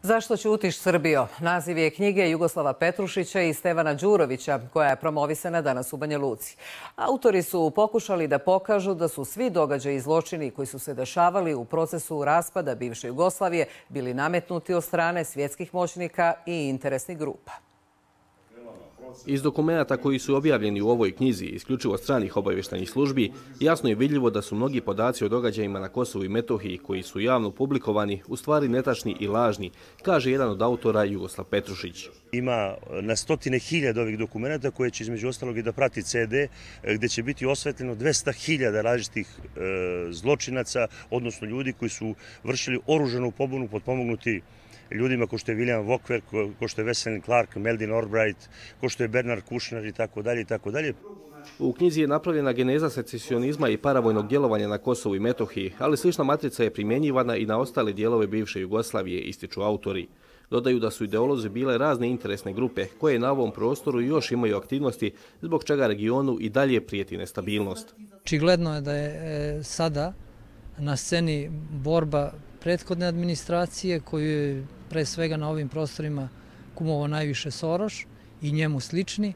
Zašto ćutiš, Srbijo? Naziv je knjige Jugoslava Petrušića i Stevana Đurovića, koja je promovisana danas u Banja Luci. Autori su pokušali da pokažu da su svi događaji i zločini koji su se dešavali u procesu raspada bivše Jugoslavije bili nametnuti od strane svjetskih moćnika i interesnih grupa. Iz dokumenata koji su objavljeni u ovoj knjizi, isključivo stranih obavještajnih službi, jasno je vidljivo da su mnogi podaci o događajima na Kosovu i Metohiji koji su javno publikovani u stvari netačni i lažni, kaže jedan od autora Jugoslav Petrušić. Ima na stotine hiljada ovih dokumenata koje će između ostalog i da prati CD, gdje će biti osvetljeno 200.000 različitih zločinaca, odnosno ljudi koji su vršili oružanu pobunu potpomognuti ljudima ko što je William Walker, ko što je Wesley Clark, Meldin Albright, ko što je Bernard Kouchner i tako dalje i tako dalje. U knjizi je napravljena geneza secesionizma i paravojnog djelovanja na Kosovu i Metohiji, ali slična matrica je primjenjivana i na ostale dijelove bivše Jugoslavije, ističu autori. Dodaju da su ideolozi bile razne interesne grupe koje na ovom prostoru još imaju aktivnosti, zbog čega regionu i dalje prijeti nestabilnost. Očigledno je da je sada na sceni borba prethodne administracije koju je pre svega na ovim prostorima kumovao najviše Soros i njemu slični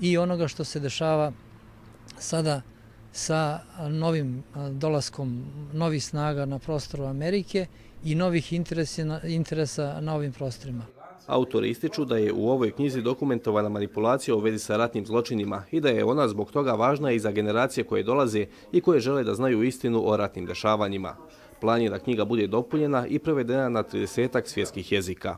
i onoga što se dešava sada sa novim dolaskom novih snaga na prostoru Amerike i novih interesa na ovim prostorima. Autori ističu da je u ovoj knjizi dokumentovana manipulacija u vezi sa ratnim zločinima i da je ona zbog toga važna i za generacije koje dolaze i koje žele da znaju istinu o ratnim dešavanjima. Plan je da knjiga bude dopunjena i prevedena na 30-ak svjetskih jezika.